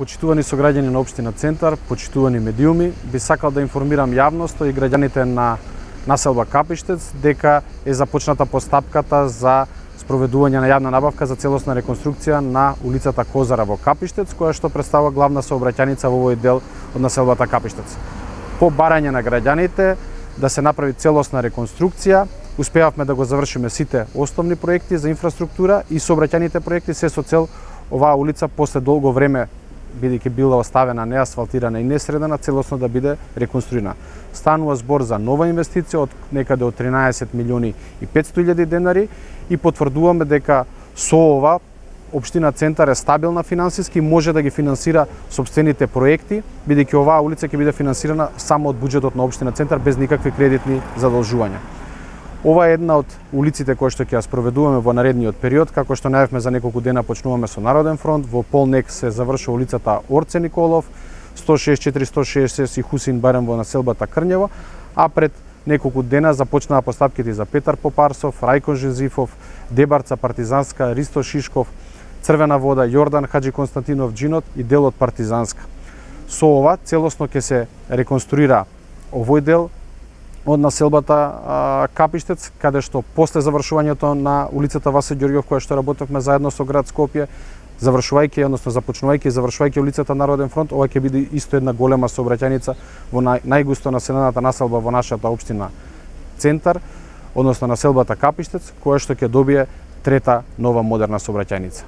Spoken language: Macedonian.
почитувани сограѓани на општина Центар, почитувани медиуми, би сакал да информирам јавноста и граѓаните на населба Капиштец дека е започната постапката за спроведување на јавна набавка за целосна реконструкција на улицата Козара во Капиштец, која што представува главна сообраќајница во овој дел од населбата Капиштец. По барање на граѓаните да се направи целосна реконструкција, успеавме да го завршиме сите основни проекти за инфраструктура и сообраќајните проекти, се со цел оваа улица после долго време, бидејќи била оставена неасфалтирана и несредена, целосно да биде реконструирана. Станува збор за нова инвестиција од некаде од 13 милиони и 500 илјади денари и потврдуваме дека со ова општина Центар е стабилна финансиски, може да ги финансира сопствените проекти, бидејќи оваа улица ќе биде финансирана само од буџетот на општина Центар без никакви кредитни задолжувања. Ова е една од улиците кои што ќе ја спроведуваме во наредниот период, како што најавме за неколку дена почнуваме со Народен фронт, во Полнек се завршува улицата Орце Николов, 164, 166 и Хусин Барем во населбата Крњево, а пред неколку дена започнаа постапките за Петар Попарсов, Рајко Жизифов, Дебарца Партизанска, Ристо Шишков, Црвена вода, Јордан Хаджи Константинов Джинот и делот Партизанска. Со ова целосно ќе се реконструира овој дел од населбата Капиштец, каде што после завршувањето на улицата Васе Ѓорѓов, која што работевме заедно со град Скопје, завршувајќи, односно започнувајќи и завршувајќи улицата Народен фронт, ова ќе биде исто една голема сообраќајница во најгусто населената населба во нашата општина Центар, односно населбата Капиштец, која што ќе добие трета нова модерна сообраќајница.